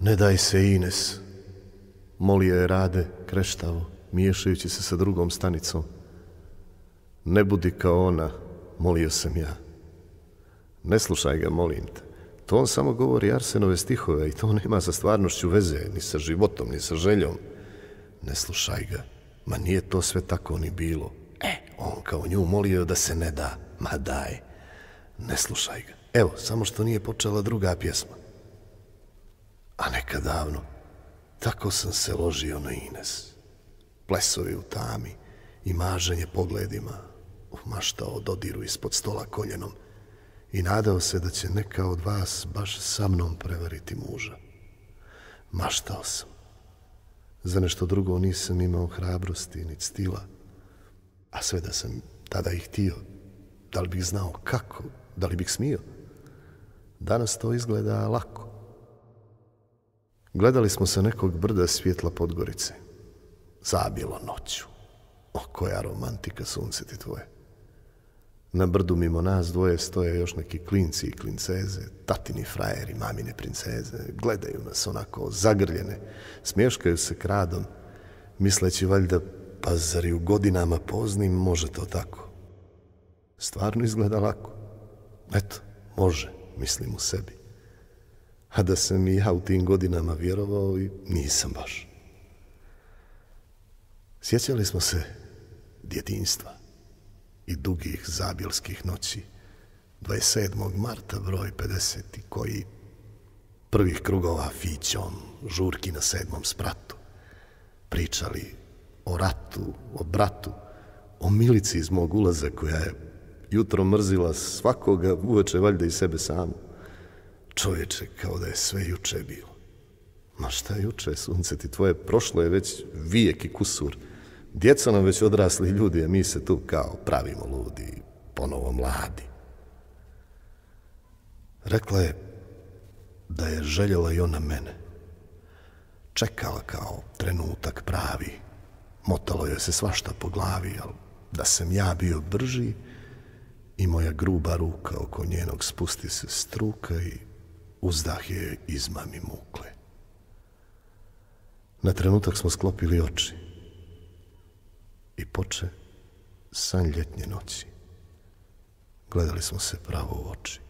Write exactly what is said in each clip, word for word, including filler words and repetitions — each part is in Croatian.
Ne daj se, Ines, molio je Rade kreštavo, miješajući se sa drugom stanicom. Ne budi kao ona, molio sam ja. Ne slušaj ga, molim te. To on samo govori Arsenove stihove i to nema sa stvarnošću veze, ni sa životom, ni sa željom. Ne slušaj ga, ma nije to sve tako ni bilo. E, on kao nju molio da se ne da, ma daj. Ne slušaj ga. Evo, samo što nije počela druga pjesma. A nekad davno, tako sam se ložio na Ines. Plesovi u tami i maženje pogledima, maštao dodiru ispod stola koljenom i nadao se da će neka od vas baš sa mnom prevariti muža. Maštao sam. Za nešto drugo nisam imao hrabrosti ni stila, a sve da sam tada i htio, da li bih znao kako, da li bih smio. Danas to izgleda lako. Gledali smo sa nekog brda svjetla Podgorice. Zabilo noću. O, koja romantika, sunce ti tvoje. Na brdu mimo nas dvoje stoje još neki klinci i klinceze, tatini frajeri, mamine princeze. Gledaju nas onako zagrljene, smješkaju se kradom, misleći valjda, pa zar i u godinama poznim može to tako. Stvarno izgleda lako. Eto, može, mislim u sebi. A da sam i ja u tim godinama vjerovao i nisam baš. Sjećali smo se djetinjstva i dugih zabilskih noći, dvadeset sedmog marta broj pedeset koji prvih krugova fićom, žurki na sedmom spratu, pričali o ratu, o bratu, o Milici iz mog ulaza koja je jutro mrzila svakoga, uveče valjda i sebe samu. Čovječe, kao da je sve juče bilo. Ma šta juče, sunce ti tvoje, prošlo je već vijek i kusur. Djeca nam već odrasli ljudi, a mi se tu kao pravimo ludi, ponovo mladi. Rekla je da je željela i ona mene. Čekala kao trenutak pravi. Motalo joj se svašta po glavi, ali da sam ja bio brži i moja gruba ruka oko njenog spusti se struka i uzdah je izmami mukle. Na trenutak smo sklopili oči i poče san ljetnje noći. Gledali smo se pravo u oči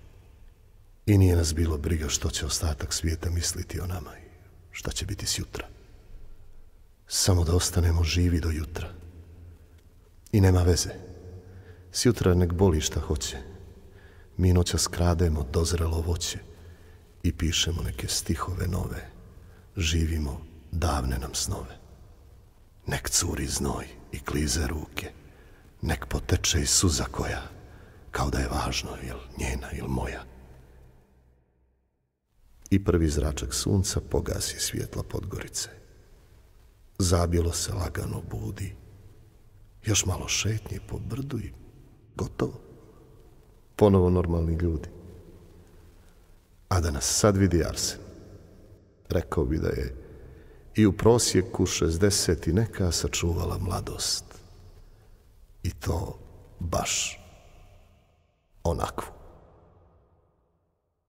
i nije nas bilo briga što će ostatak svijeta misliti o nama i šta će biti sjutra. Samo da ostanemo živi do jutra. I nema veze. Sjutra nek boli šta hoće. Mi noćas krademo dozrelo voće i pišemo neke stihove nove. Živimo davne nam snove. Nek curi znoj i klize ruke. Nek poteče i suza koja, kao da je važno jel njena ili moja. I prvi zračak sunca pogasi svjetla Podgorice. Zabilo se lagano budi. Još malo šetnje po brdu i gotovo. Ponovo normalni ljudi. A da nas sad vidi Arsen, rekao bi da je i u prosjeku šezdeset i neka sačuvala mladost. I to baš onakvu.